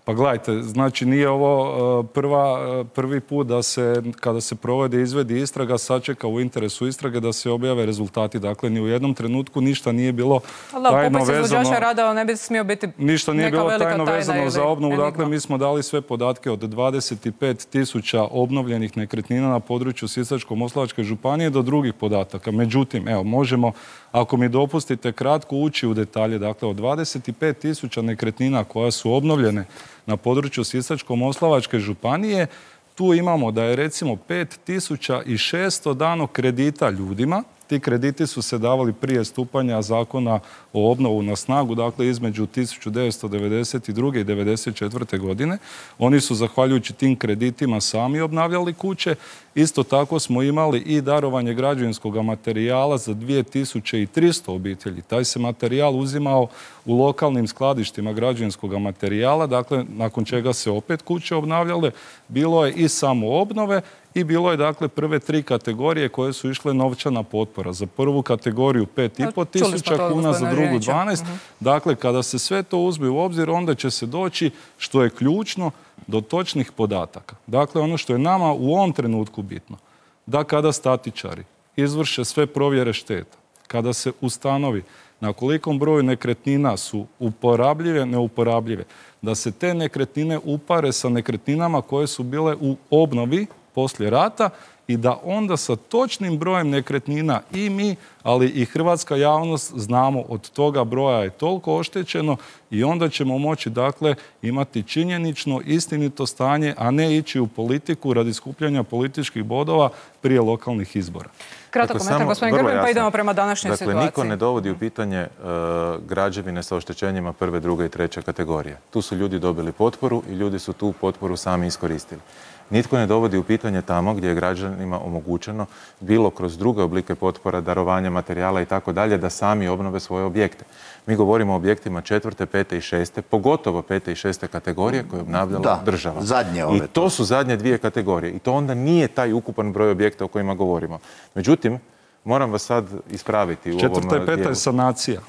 Pa gledajte, znači nije ovo prva, prvi put da se, kada se provode izvedi istraga, sačeka u interesu istrage da se objave rezultati. Dakle, ni u jednom trenutku ništa nije bilo tajno vezano... Popis izvođača radova ne bi smio biti neka velika tajna. Ništa nije bilo tajno vezano za obnovu. Dakle, mi smo dali sve podatke od dvadeset pet tisuća obnovljenih nekretnina na području Sisačko-moslavačke županije do drugih podataka. Međutim, evo, možemo, ako mi dopustite, kratko ući u detalje. Dakle, od dvadeset pet tisuća nekretnina koja su obnovljene na području Sisačko-moslavačke županije, tu imamo da je recimo pet tisuća šesto dano kredita ljudima. Ti krediti su se davali prije stupanja zakona o obnovu na snagu, dakle između tisuću devetsto devedeset druge i devedeset četvrte godine. Oni su, zahvaljujući tim kreditima, sami obnavljali kuće. Isto tako smo imali i darovanje građevinskog materijala za dvije tisuće tristo obitelji. Taj se materijal uzimao u lokalnim skladištima građevinskog materijala, dakle nakon čega se opet kuće obnavljale. Bilo je i samo obnove i bilo je dakle prve tri kategorije koje su išle novčana potpora. Za prvu kategoriju pet i pol tisuća kuna, za drugu dvanaest. Dakle, kada se sve to uzme u obzir, onda će se doći, što je ključno, do točnih podataka. Dakle, ono što je nama u ovom trenutku bitno, da kada statičari izvrše sve provjere šteta, kada se ustanovi na kolikom broju nekretnina su uporabljive, neuporabljive, da se te nekretnine upare sa nekretninama koje su bile u obnovi poslije rata i da onda sa točnim brojem nekretnina i mi, ali i hrvatska javnost znamo od toga broja je toliko oštećeno i onda ćemo moći dakle imati činjenično istinito stanje, a ne ići u politiku radi skupljanja političkih bodova prije lokalnih izbora. Kratak komentar, gospodin Grbin, pa idemo prema današnjoj situaciji. Dakle, niko ne dovodi u pitanje građevine sa oštećenjima prve, druge i treće kategorije. Tu su ljudi dobili potporu i ljudi su tu potporu sami iskoristili. Nitko ne dovodi u pitanje tamo gdje je građanima omogućeno, bilo kroz druge oblike potpora, darovanja materijala i tako dalje, da sami obnove svoje objekte. Mi govorimo o objektima četvrte, pete i šeste, pogotovo pete i šeste kategorije koje je obnavljala država. Zadnje ove. I to su zadnje dvije kategorije. I to onda nije taj ukupan broj objekta o kojima govorimo. Međutim, moram vas sad ispraviti u ovom dijelu. Četvrta i peta je sanacija.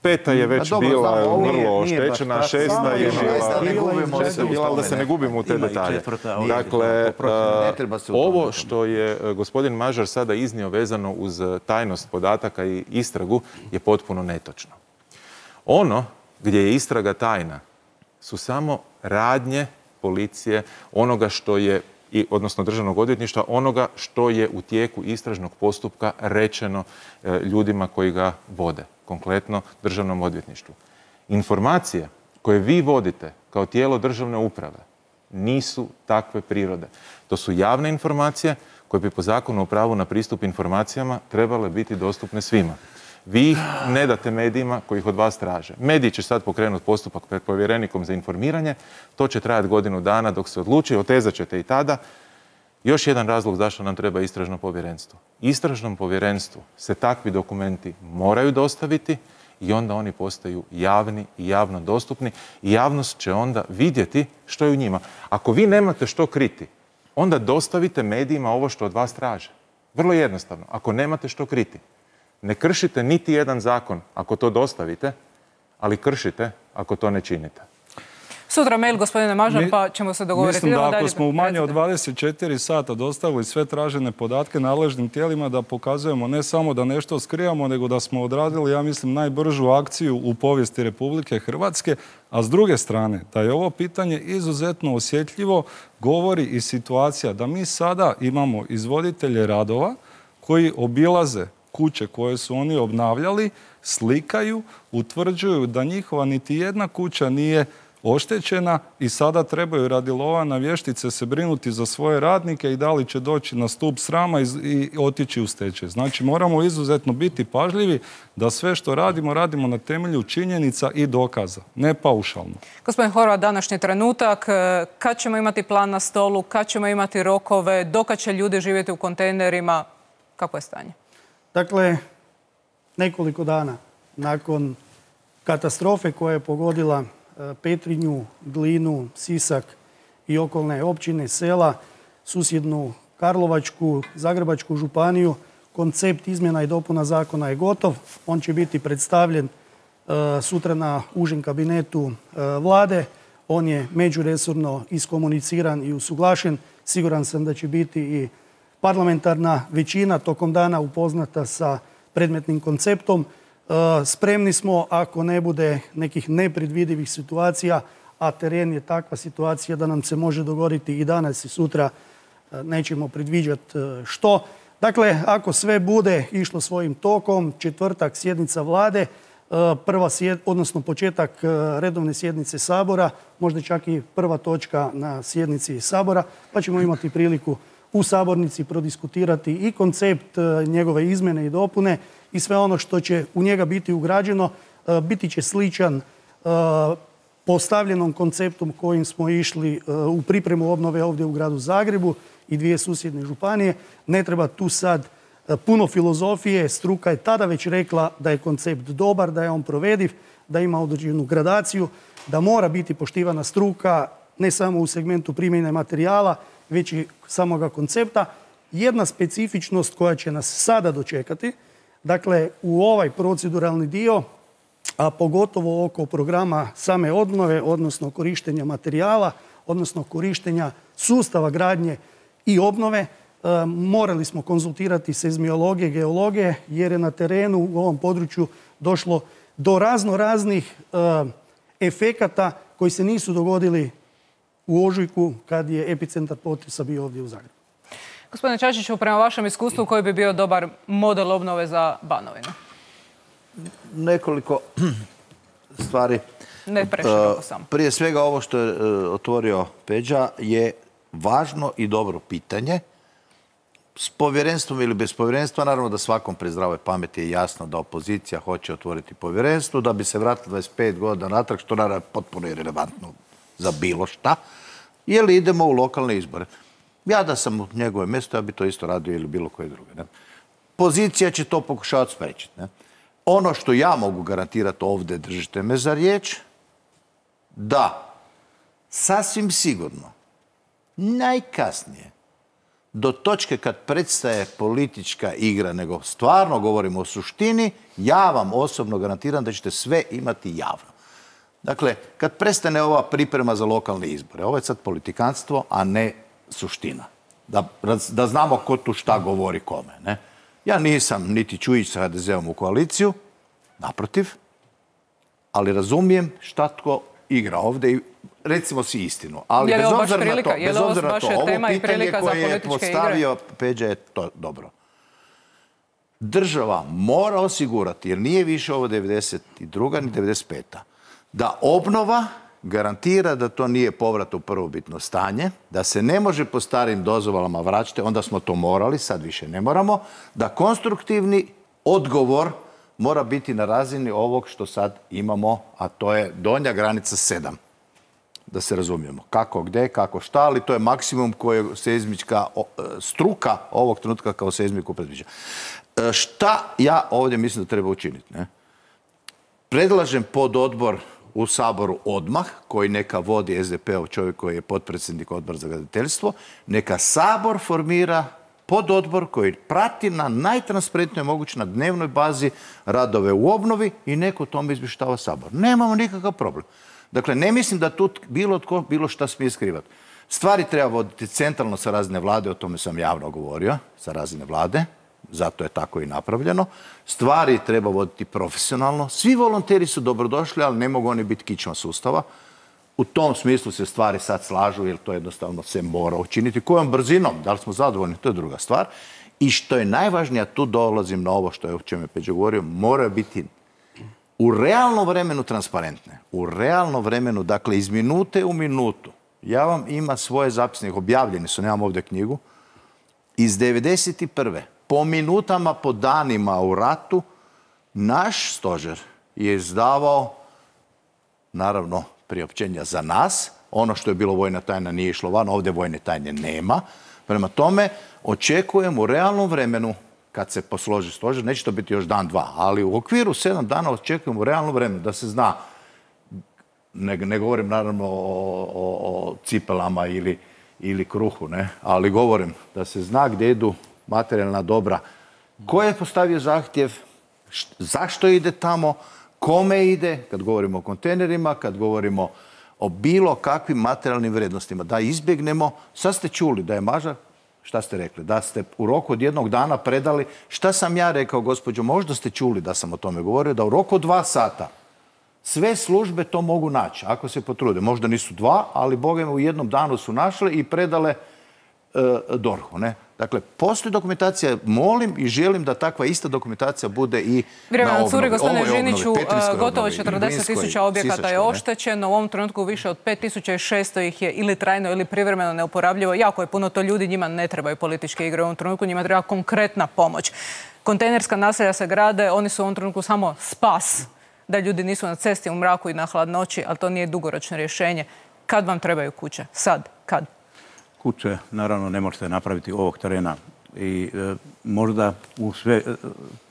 Peta je već bila vrlo oštećena, šesta je bila, da se ne gubimo u te detalje. Dakle, ovo što je gospodin Mažar sada iznio vezano uz tajnost podataka i istragu je potpuno netočno. Ono gdje je istraga tajna su samo radnje policije, onoga što je, odnosno državnog odvjetništva, onoga što je u tijeku istražnog postupka rečeno ljudima koji ga vode, konkretno državnom odvjetništvu. Informacije koje vi vodite kao tijelo državne uprave nisu takve prirode. To su javne informacije koje bi po zakonu o pravu na pristup informacijama trebale biti dostupne svima. Vi ih ne date medijima koji ih od vas traže. Mediji će sad pokrenuti postupak pred povjerenikom za informiranje. To će trajati godinu dana dok se odluči, otezat ćete i tada. Još jedan razlog zašto nam treba istražno povjerenstvo. Istražnom povjerenstvu se takvi dokumenti moraju dostaviti i onda oni postaju javni i javno dostupni i javnost će onda vidjeti što je u njima. Ako vi nemate što kriti, onda dostavite medijima ovo što od vas traže. Vrlo jednostavno. Ako nemate što kriti, ne kršite niti jedan zakon ako to dostavite, ali kršite ako to ne činite. Sutra mail, gospodine Mažar, pa ćemo se dogovoriti. Mislim da ako smo u manje od dvadeset četiri sata dostavili sve tražene podatke nadležnim tijelima, da pokazujemo ne samo da nešto skrivamo, nego da smo odradili, ja mislim, najbržu akciju u povijesti Republike Hrvatske, a s druge strane, da je ovo pitanje izuzetno osjetljivo, govori i situacija da mi sada imamo izvoditelje radova koji obilaze kuće koje su oni obnavljali, slikaju, utvrđuju da njihova niti jedna kuća nije oštećena i sada trebaju radi lova na vještice se brinuti za svoje radnike i da li će doći na stup srama i otići u stečaj. Znači moramo izuzetno biti pažljivi da sve što radimo, radimo na temelju činjenica i dokaza, ne paušalno. Gospodin Horvat, današnji trenutak, kad ćemo imati plan na stolu, kad ćemo imati rokove, dokad će ljudi živjeti u kontejnerima, kako je stanje? Dakle, nekoliko dana nakon katastrofe koja je pogodila Petrinju, Glinu, Sisak i okolne općine, sela, susjednu Karlovačku, Zagrebačku županiju, koncept izmjena i dopuna zakona je gotov. On će biti predstavljen sutra na užem kabinetu vlade. On je međuresorno iskomuniciran i usuglašen. Siguran sam da će biti i parlamentarna većina tokom dana upoznata sa predmetnim konceptom. Spremni smo, ako ne bude nekih nepredvidivih situacija, a teren je takva situacija da nam se može dogoditi i danas i sutra, nećemo predviđati što. Dakle, ako sve bude išlo svojim tokom, četvrtak sjednica vlade, prva sjed, odnosno početak redovne sjednice Sabora, možda čak i prva točka na sjednici Sabora, pa ćemo imati priliku u sabornici prodiskutirati i koncept njegove izmjene i dopune i sve ono što će u njega biti ugrađeno, biti će sličan postavljenom konceptom kojim smo išli u pripremu obnove ovdje u gradu Zagrebu i dvije susjedne županije. Ne treba tu sad puno filozofije, struka je tada već rekla da je koncept dobar, da je on provediv, da ima određenu gradaciju, da mora biti poštivana struka ne samo u segmentu primjene materijala, već i samoga koncepta. Jedna specifičnost koja će nas sada dočekati, dakle u ovaj proceduralni dio, a pogotovo oko programa same obnove, odnosno korištenja materijala, odnosno korištenja sustava gradnje i obnove, morali smo konzultirati seizmiologije, geologije, jer je na terenu u ovom području došlo do razno raznih efekata koji se nisu dogodili u ožujku kad je epicentar potresa bio ovdje u Zagrebu. Gospodine Čačiću, prema vašem iskustvu, koji bi bio dobar model obnove za Banovinu? Nekoliko stvari. Ne preširoko samo. Prije svega ovo što je otvorio Peđa je važno i dobro pitanje. S povjerenstvom ili bez povjerenstva, naravno da svakom pri zdravoj pameti je jasno da opozicija hoće otvoriti povjerenstvo, da bi se vratilo dvadeset pet godina natrag, što naravno je potpuno irelevantno za bilo šta, jer idemo u lokalne izbore. Ja da sam u njegove mjesto, ja bi to isto radio ili bilo koje druge. Ne? Pozicija će to pokušavati spriječiti. Ne? Ono što ja mogu garantirati ovdje, držite me za riječ, da sasvim sigurno najkasnije do točke kad predstaje politička igra, nego stvarno govorimo o suštini, ja vam osobno garantiram da ćete sve imati javno. Dakle, kad prestane ova priprema za lokalne izbore, ovo je sad politikanstvo, a ne suština. Da, da znamo ko tu šta govori kome. Ne? Ja nisam niti Čujić sa ha de zeom u koaliciju, naprotiv, ali razumijem šta tko igra ovdje i recimo si istinu. Ali bez obzira na to, bez obzira na to, ovo pitanje koje je postavio Peđa je to dobro. Država mora osigurati, jer nije više ovo devedeset druga ni devedeset peta, da obnova garantira da to nije povrat u prvobitno stanje, da se ne može po starim dozvolama vraćati, onda smo to morali, sad više ne moramo, da konstruktivni odgovor mora biti na razini ovog što sad imamo, a to je donja granica sedam. Da se razumijemo. Kako, gde, kako, šta, ali to je maksimum koje seizmička struka ovog trenutka kao seizmiku predviđa. Šta ja ovdje mislim da treba učiniti? Ne? Predlažem pododbor u Saboru odmah, koji neka vodi es de pe-ov čovjek koji je potpredsjednik Odbora za graditeljstvo, neka Sabor formira pododbor koji prati na najtransparentnoj mogući na dnevnoj bazi radove u obnovi i neko o tome izvještava Sabor. Nemamo nikakav problem. Dakle, ne mislim da tu bilo tko bilo šta smije skrivati. Stvari treba voditi centralno sa razine vlade, o tome sam javno govorio, sa razine vlade, zato je tako i napravljeno. Stvari treba voditi profesionalno. Svi volonteri su dobrodošli, ali ne mogu oni biti kičma sustava. U tom smislu se stvari sad slažu, jer to jednostavno se mora učiniti. Kojom brzinom, da li smo zadovoljni, to je druga stvar. I što je najvažnije, tu dolazim na ovo što je o čemu je Peđa govorio, moraju biti u realnom vremenu transparentne. U realnom vremenu, dakle iz minute u minutu. Ja vam ima svoje zapisnike, objavljeni su, nemam ovdje knjigu, iz devedeset prve po minutama, po danima u ratu, naš stožer je izdavao, naravno, priopćenja za nas. Ono što je bilo vojna tajna nije išlo van, ovdje vojne tajne nema. Prema tome, očekujem u realnom vremenu, kad se posloži stožer, neće to biti još dan, dva, ali u okviru sedam dana očekujem u realnom vremenu da se zna, ne, ne govorim naravno o, o, o cipelama ili, ili kruhu, ne? Ali govorim da se zna gdje idu materijalna dobra. Ko je postavio zahtjev, zašto ide tamo, kome ide, kad govorimo o kontejnerima, kad govorimo o bilo kakvim materijalnim vrijednostima. Da izbjegnemo, sad ste čuli da je Mažar, šta ste rekli, da ste u roku od jednog dana predali, šta sam ja rekao, gospođo, možda ste čuli da sam o tome govorio, da u roku od dva sata sve službe to mogu naći, ako se potrude. Možda nisu dva, ali Boga u jednom danu su našle i predale D O R H-u. Dakle, postoji dokumentacija, molim i želim da takva ista dokumentacija bude i Vrijeme na na curi, obnovi. gospodine Ovoj obnovi, Žiniću, Petrinjskoj gotovo obnovi, četrdeset tisuća Glinskoj, objekata je Sisačkoj, ne? oštećeno. U ovom trenutku više od pet tisuća šesto ih je ili trajno ili privremeno neuporabljivo. Jako je puno to ljudi, njima ne trebaju političke igre u ovom trenutku, njima treba konkretna pomoć. Kontejnerska naselja se grade, oni su u ovom trenutku samo spas da ljudi nisu na cesti u mraku i na hladnoći, ali to nije dugoročno rješenje. Kad vam trebaju kuće? Sad? Kad? Kuće, naravno, ne možete napraviti ovog terena. I e, možda u, sve,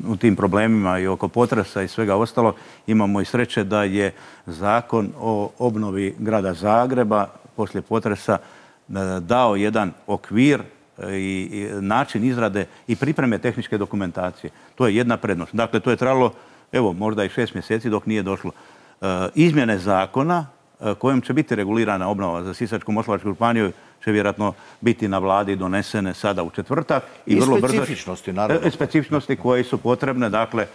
u tim problemima i oko potresa i svega ostalo imamo i sreće da je zakon o obnovi grada Zagreba poslije potresa e, dao jedan okvir i, i način izrade i pripreme tehničke dokumentacije. To je jedna prednost. Dakle, to je trajalo, evo, možda i šest mjeseci dok nije došlo. E, izmjene zakona e, kojom će biti regulirana obnova za Sisačko-moslavačku županiju će vjerojatno biti na vladi donesene sada u četvrtak. I, I vrlo specifičnosti, brzo, naravno. Specifičnosti koje su potrebne. Dakle,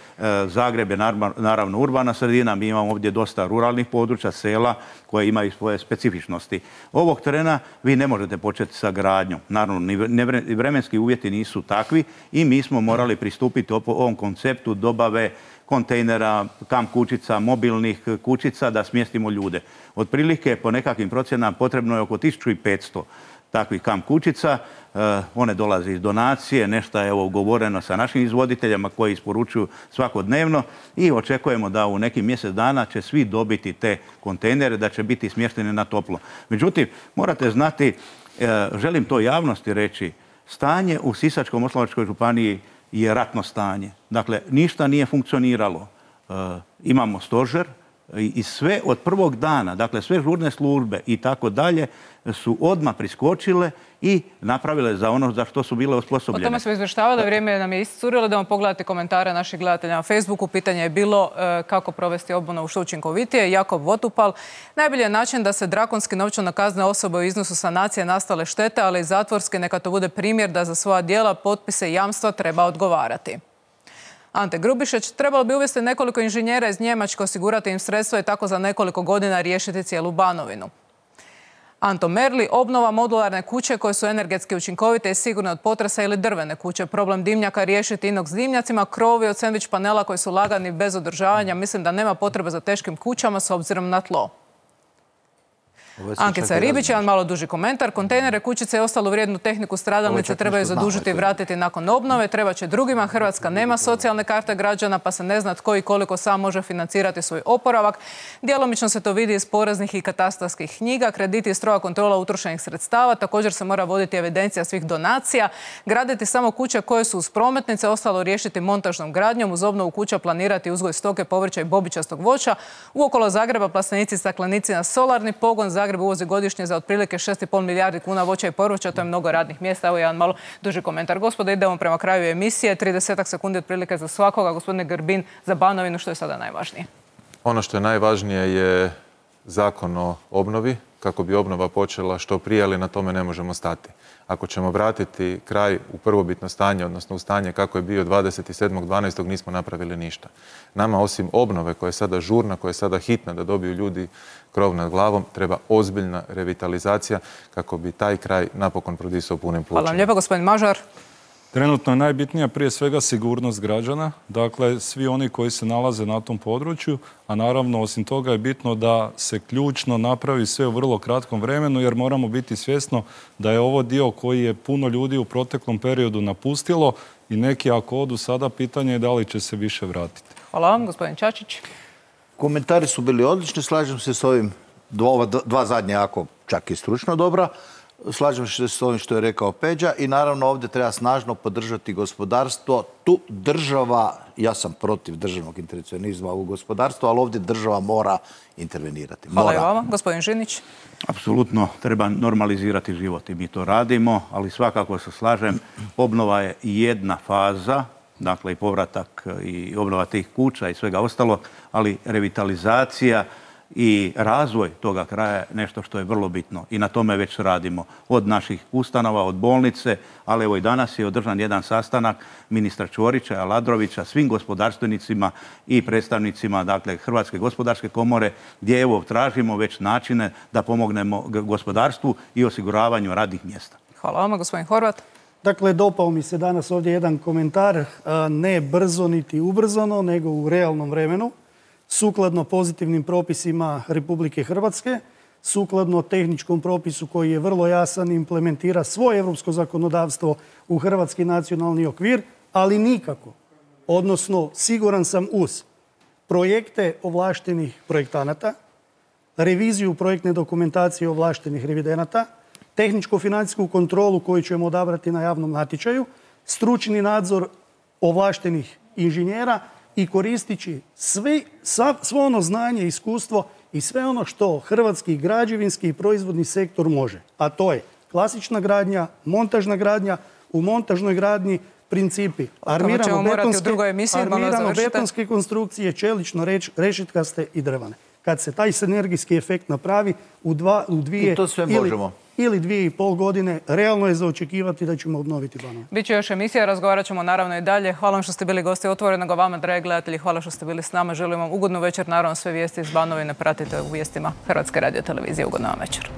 Zagreb je naravno urbana sredina. Mi imamo ovdje dosta ruralnih područja, sela koje imaju svoje specifičnosti. Ovog trena vi ne možete početi sa gradnjom. Naravno, ni vremenski uvjeti nisu takvi i mi smo morali pristupiti ovom konceptu dobave kontejnera, kamp kućica, mobilnih kućica da smjestimo ljude. Otprilike, po nekakvim procjenama, potrebno je oko tisuću petsto takvih kamp kućica. One dolaze iz donacije, nešto je ugovoreno sa našim izvoditeljima koji isporučuju svakodnevno i očekujemo da u nekih mjesec dana će svi dobiti te kontejnere, da će biti smješteni na toplo. Međutim, morate znati, želim to javnosti reći, stanje u Sisačko-moslavačkoj županiji je ratno stanje. Dakle, ništa nije funkcioniralo. E, imamo stožer i, i sve od prvog dana, dakle sve žurne službe i tako dalje su odmah priskočile i napravile za ono za što su bile osposobljene. O tome smo izvještavali, vrijeme nam je iscurilo da vam pogledate komentare naših gledatelja na Facebooku. Pitanje je bilo e, kako provesti obnovu što učinkovitije. Jakob Votupal, najbolji je način da se drakonski novčano kazne osobe u iznosu sanacije nastale štete, ali i zatvorski neka to bude primjer da za svoja djela, potpise i jamstva treba odgovarati. Ante Grubišić, trebalo bi uvesti nekoliko inženjera iz Njemačke, osigurati im sredstva i tako za nekoliko godina riješiti cijelu Banovinu. Anto Merli, obnova modularne kuće koje su energetski učinkovite i sigurne od potresa ili drvene kuće. Problem dimnjaka riješiti inox dimnjacima, krovi od sendvič panela koji su lagani bez održavanja. Mislim da nema potrebe za teškim kućama s obzirom na tlo. Ankica Ribić, jedan malo duži komentar. Kontejnere, kućice i ostalu vrijednu tehniku stradalnice trebaju zadužiti i vratiti nakon obnove. Treba će drugima. Hrvatska nema socijalne karte građana pa se ne zna tko i koliko sam može financirati svoj oporavak. Djelomično se to vidi iz poreznih i katastarskih knjiga. Krediti i stroga kontrola utrošenih sredstava. Također se mora voditi evidencija svih donacija. Graditi samo kuće koje su uz prometnice. Ostalo riješiti montažnom gradnjom. Uz obnovu kuća planirati uzgoj stoke, povrća i bobičastog voća. Uokolo Zagreba plastenici i staklenici na solarni pogon. Zagreb uvozi godišnje za otprilike šest i pol milijardi kuna voća i povrća, to je mnogo radnih mjesta. Evo jedan malo duži komentar. Gospodo, idemo prema kraju emisije. trideset sekundi otprilike za svakoga. Gospodine Grbin, za Banovinu, što je sada najvažnije? Ono što je najvažnije je zakon o obnovi, kako bi obnova počela što prije, ali na tome ne možemo stati. Ako ćemo vratiti kraj u prvobitno stanje, odnosno u stanje kako je bio dvadeset sedmog dvanaestog nismo napravili ništa. Nama osim obnove koja je sada žurna, koja je sada hitna da dobiju ljudi krov nad glavom, treba ozbiljna revitalizacija kako bi taj kraj napokon prodisao punim plućima. Hvala vam lijepa, gospodin Mažar. Trenutno je najbitnija prije svega sigurnost građana, dakle svi oni koji se nalaze na tom području, a naravno osim toga je bitno da se ključno napravi sve u vrlo kratkom vremenu jer moramo biti svjesno da je ovo dio koji je puno ljudi u proteklom periodu napustilo i neki ako odu sada pitanje je da li će se više vratiti. Hvala vam, gospodin Čačić. Komentari su bili odlični, slažem se s ovim dva, dva zadnje jako čak i stručno dobra. Slažem se s ovim što je rekao Peđa i naravno ovdje treba snažno podržati gospodarstvo. Tu država, ja sam protiv državnog intervencionizma u gospodarstvu, ali ovdje država mora intervenirati. Hvala i vama. Gospodin Žinić. Apsolutno treba normalizirati život i mi to radimo, ali svakako se slažem, obnova je jedna faza, dakle i povratak i obnova tih kuća i svega ostalo, ali revitalizacija i razvoj toga kraja je nešto što je vrlo bitno i na tome već radimo. Od naših ustanova, od bolnice, ali evo i danas je održan jedan sastanak ministra Ćorića, Aladrovića, svim gospodarstvenicima i predstavnicima dakle, Hrvatske gospodarske komore, gdje evo tražimo već načine da pomognemo gospodarstvu i osiguravanju radnih mjesta. Hvala vama, gospodin Horvat. Dakle, dopao mi se danas ovdje jedan komentar, ne brzo niti ubrzano, nego u realnom vremenu, sukladno pozitivnim propisima Republike Hrvatske, sukladno tehničkom propisu koji je vrlo jasan, implementira svoje europsko zakonodavstvo u hrvatski nacionalni okvir, ali nikako, odnosno siguran sam uz projekte ovlaštenih projektanata, reviziju projektne dokumentacije ovlaštenih revidenata, tehničko-financijsku kontrolu koju ćemo odabrati na javnom natječaju, stručni nadzor ovlaštenih inženjera i koristići sve, svo ono znanje, iskustvo i sve ono što hrvatski građevinski i proizvodni sektor može. A to je klasična gradnja, montažna gradnja, u montažnoj gradnji principi armirano-betonske konstrukcije, čelično rešetkaste i drvane. Kad se taj sinergijski efekt napravi u, dva, u dvije ili, ili dvije i pol godine, realno je za očekivati da ćemo obnoviti Banovinu. Biće još emisija, razgovarat ćemo naravno i dalje. Hvala vam što ste bili gosti Otvorenog, a vama, dragi gledatelji, hvala što ste bili s nama. Želim vam ugodnu večer, naravno sve vijesti iz Banovine pratite u vijestima Hrvatske radiotelevizije. Ugodna vam večer.